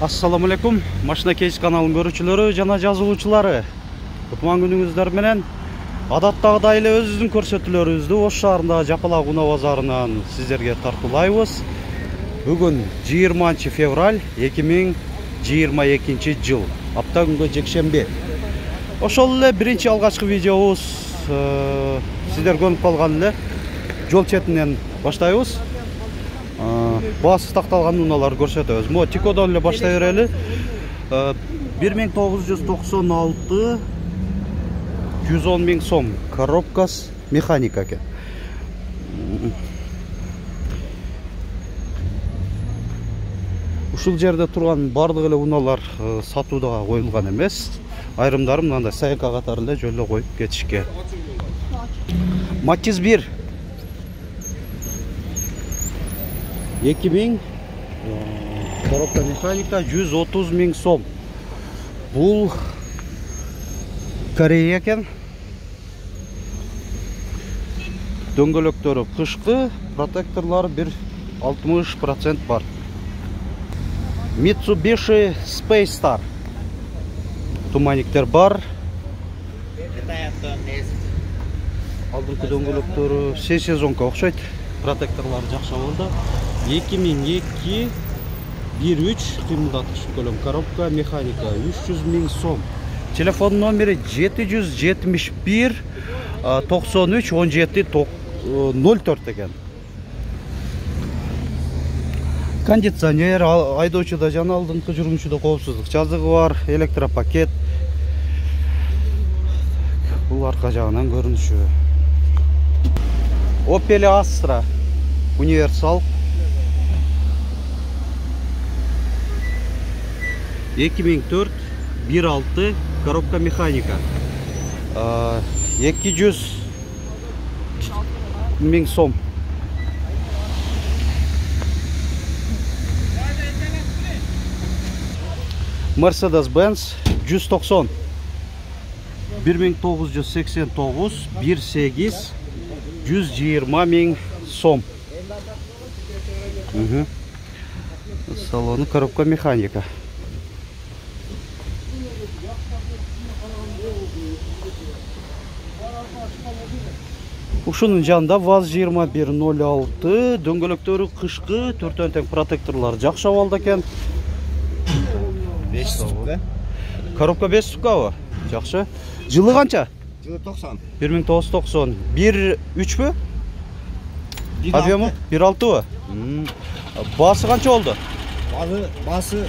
Assalamu alaikum. Машина кейс каналын көрүүчүлөрү жана жазылуучулары. Кутман күнүңүздөр менен адаттагыдай эле өзүбүздүн көрсөтүүлөрүбүздү Ош шаарындагы Жапалак унаа базарынан сиздерге тартуулайбыз. Бүгүн 20 февраль 2022 жыл. Апта күнгө жекшемби. Ошол эле биринчи алгачкы видеобуз сиздер көрүп калган эле жол четинен баштайбыз. Баасы такталган унааларды көрсөтөбүз. Мо Тикодон эле баштай берели. 1996 110 000 сом коробкасы механика экен. Ушул жерде турган бардык эле унаалар сатууга коюлган эмес. Айрымдары мындай сайка катары эле жолдо коюп кетишкен. Матиз 1 2000 коробка механика 130 000 сом. Бул Корея экен. Дөңгөлөктөрү кышкы, протекторлор 60% бар. Mitsubishi Space Star. Туманиктер бар. Алдыңкы дөңгөлөктөрү сезонко окшойт. Протекторлор жакшы болду. 2002 13 кыймылдаткыч көлөм коробка механика 300 000 сом. Телефон номери 771 93 17 04 экен. Кондиционер, айдоочуда жана алдыңкы жүргүнчүдө коопсуздук жазыгы бар, электропакет. Бул арка жагынан көрүнүшү. Opel Astra универсал 2004 1.6 коробка механика 200 000 сом. Mercedes-Benz 190 1989 1.8 120 000 сом. Салону коробка механика. Ушунун жанында ВАЗ 2106 дөңгөлөктөрү кышкы, төртөн тең протекторлор жакшы абалда экен. 5 ступка. Коробка 5 ступкабы? Жакшы. Жылы канча? Жылы 90. 1990. 1.3бү? Объему 1.6бы? Баасы канча болду? Баасы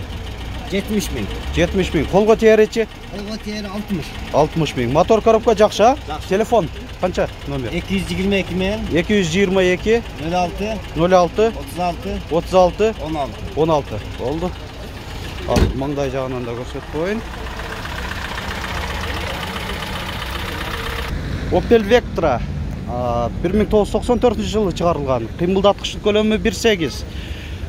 70 000. 70 000. Колго тееречи? Колго теери 60. 60 000. Мотор коробка жакшы? Телефон канча номер? 222 менен 222 06 06 36 36 16. Болду. Ал маңдай жагынан да көрсөтүп коеюн. Opel Vectra 1994 жылы чыгарылган. Кыймылдаткычтын көлөмү 1.8.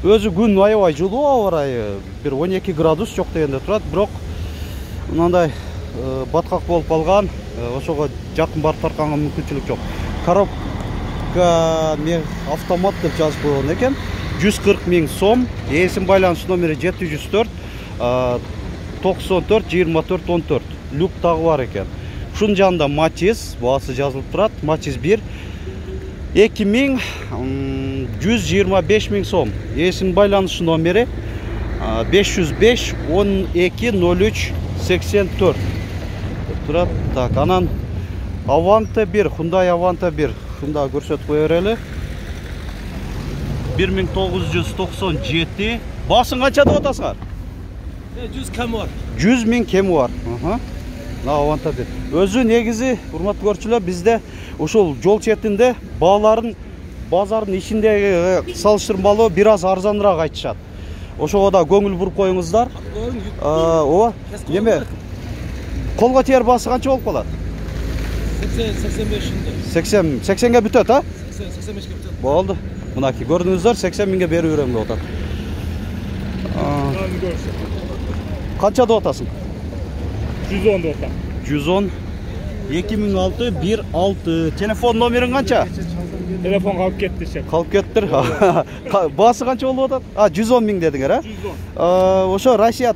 Өзү күн аябай жылуу аба ырайы, 12 градус жок дегенде турат, бирок мындай баткак болуп калган, ошого жакын барып тартканга мүмкүнчүлүк жок. Коробка автомат деп жазып койгон экен. 140 000 сом. Эсим байланыш номери 704 94 24 14. Люк дагы бар экен. Ушунун жанында Матиз, баасы жазылып турат. Матиз 1 125 000 сом. Эсим байланыш номери 505 12 03 84. Турат. Так, анан Avante 1, Hyundai Avante 1. Шунда көрсөтүп кое берели. 1997. Басын канча деп атасыңар? 100 кем бар. 100 000 кеми бар. Avante 1. Өзү негизи, урматтуу көрүүчүлөр, бизде ушул жол четинде бааларын базардын ичиндеги салыштырмалуу бир аз арзаныраак айтышат. Ошого да көңүл буруп коюңуздар. Ооба. Неме? Колго тээр баасы канча болуп калат? 80-ге бүтөт, а? 85-ге бүтөт. Болду. Мынакей көрдүңүздөр, 80 000ге берип берем деп атат. Канча деп атасың? 110 деп атам. 110 2006 16. Телефон номерин канча? Телефон калып кетти шеп. Калып кеттир. Баасы канча болуп атат? 110 миң дедиңер, 110. Ошо Россия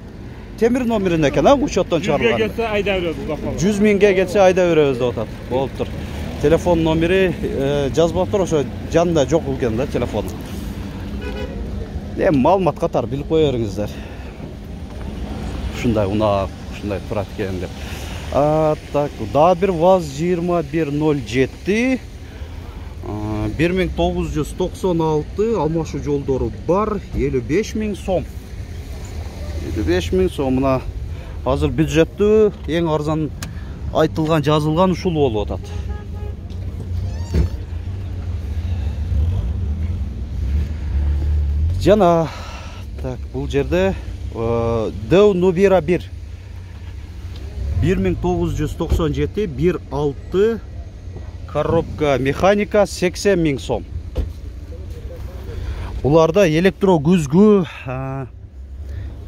темир номеринде экен, учеттон 100 чыгарылган. келсе айда беребиз бакалап. 100 миңге келсе айда беребиз деп атат. Болуптур. Телефон номери жазбаптыр, ошо жанында жок экен да телефон. Маалымат катары билип кое бериңиздер. Ушундай унак, ушундай турат экен деп. Так, дагы бир ВАЗ-2107 1996 алмашуу жолдору бар, 55 миң сом. 55 миң сом. Мына азыр бюджеттүү эң арзан айтылган, жазылган ушул болуп атат. Жана так, бул жерде Deo Nubira 1 1997 1.6 коробка механика 80 миң сом. Буларда электро күзгү,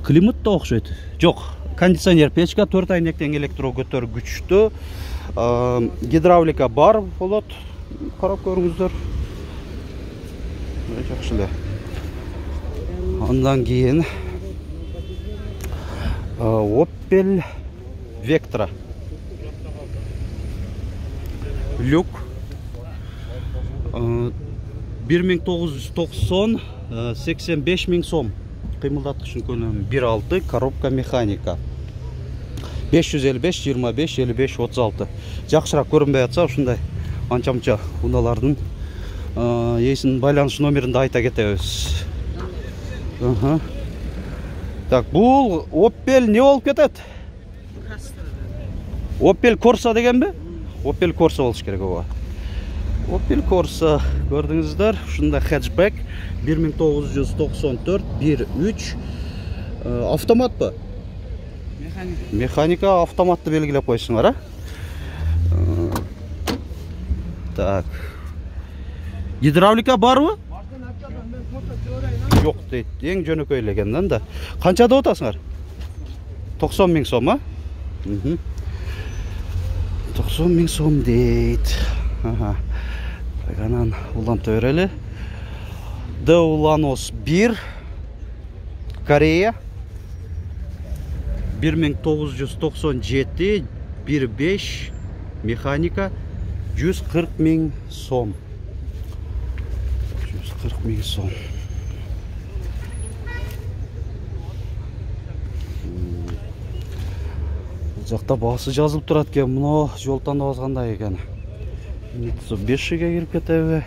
климат да окшойт. Жок, кондиционер печка, 4 айнектен электро көтөргүчтүү, гидравлика бар болот. Карап көрүңүздөр. Жакшы эле. Андан кийин Opel Vectra люк 1990 85 миң сом. Кыймылдаткычын көнөмү 1.6 коробка механика 555 25 55 36. Жакшыраак көрүнбөй атса ушундай анча-мунча уналардын эсинин байланыш номеринде айта кетебиз. Так, бул Opel не болуп кетет? Opel Corsa дегенби? Opel Corsa болуш керек ова. Opel Corsa көрдүңүздөр, ушунда хэтчбек 1994 1.3 автоматпы? Механика автоматты белгилеп койсуңар, Так. Гидравлика барбы? Жок дейт. Эң жөнөкөй эле экен да. Канча деп атасыңар? 90 миң сом, 90 миң сом дейт. Анан уланта берели. Deo Lanos 1 Корея 1997 1.5 механика 140 миң сом. 140 миң сом. Жакта баасы жазылып турат экен. Мына жол тандабыз кандай экен. Mitsubishi'ге кирип кетеби?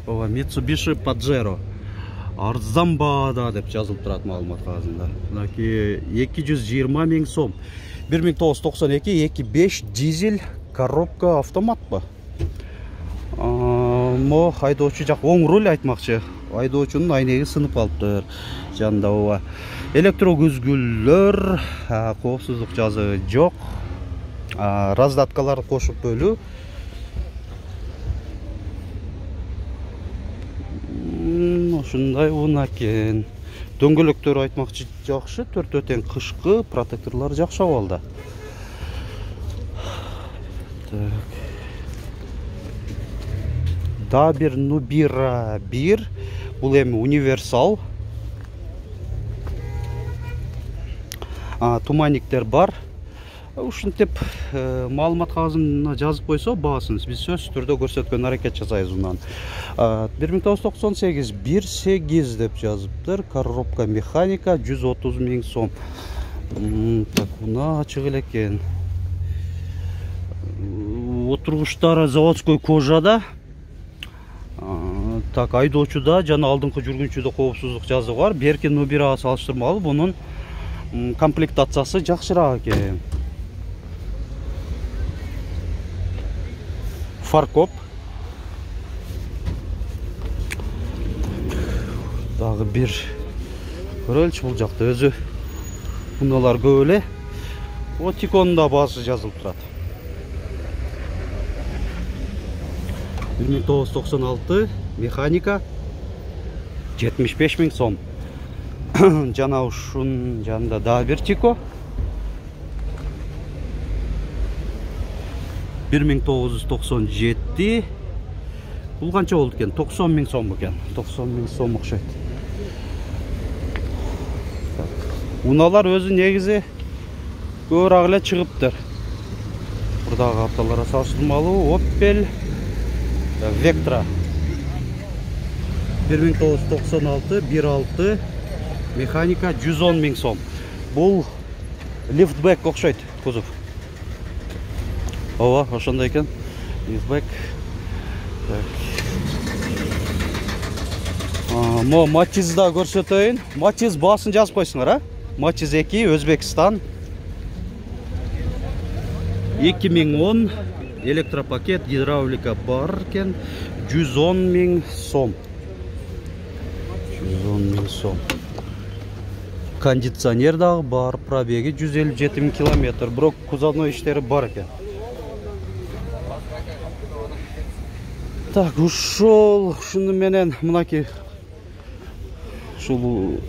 Ова Mitsubishi Pajero. Арзан баада деп жазылып турат маалымат кагазында. Мынакей 220 миң сом. 1992 2.5 дизель коробка автоматпы? Мо айдоочу жак оң руль айтмакчы. Айдоочунун айнеги сынып калыптыр. Жанында ова электро күзгүлөр, коопсуздук жазыгы жок. Раздаткаларды кошуп бөлүү. Ушундай унакен. Дөңгөлөктөр айтмакчы жакшы, төртөө тең кышкы, протекторлор жакшы абалда. Так. Да бир Nubira 1, бул эми универсал. Туманниктер бар. Ушинтип маалымат кагазына жазып койсо баасын биз сөзсүз түрдө көрсөткөн аракет жасайбыз унан. 1998 1.8 деп жазыптыр. Коробка механика 130 миң сом. Так, уна ачык эле экен. Отургучтары заводской кожада. Так, айдоочуда жана алдыңкы жүргүнчүдө коопсуздук жазыгы бар. Берки Nubira'га салыштырмалуу бунун комплектациясы жакшыраак экен. Фаркоп. Дагы бир көрөлчү бул жакта өзү уналар көп эле. Тиконда баасы жазылып турат. 1996 механика 75 миң сом. Жана ушун жанында дагы бир Тико 1997 Бул канча болду экен? 90 000 сом экен. 90 000 сом окшойт. Уналар өзү негизи көбүрөөк эле чыгыптыр. Бурдагы автолорго салыштырмалуу Opel Vectra 1996 1.6 механика 110 000 сом. Бул лифтбэк окшойт кузов. Ооба, ошондой экен. Лифтбэк. Мо Матизда көрсөтөйүн. Матиз баасын жазып койсуңар, а? Матиз 2 Өзбекстан. 2010 электропакет, гидравлика бар экен. 110 000 сом. 110 000 сом. Кондиционер дагы бар, пробеги 157 000 километр. Бирок кузовной иштери бар экен. Так, ушуну менен мынакей ушул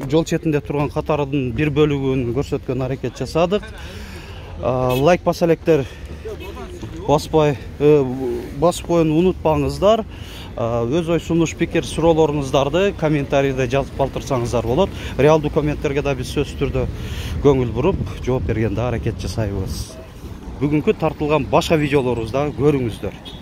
жол четинде турган катардын бир бөлүгүн көрсөткөн аракет жасадык. Лайк баса электер, басып коюуну унутпаңыздар. Өз ой сунуш, пикир, суроолоруңуздарды комментарийде жазып калтырсаңыздар болот. Реалдуу комменттерге да биз сөзсүз түрдө көңүл буруп жооп бергенде аракет жасайбыз. Бүгүнкү тартылган башка видеолорубузду көрүңүздөр.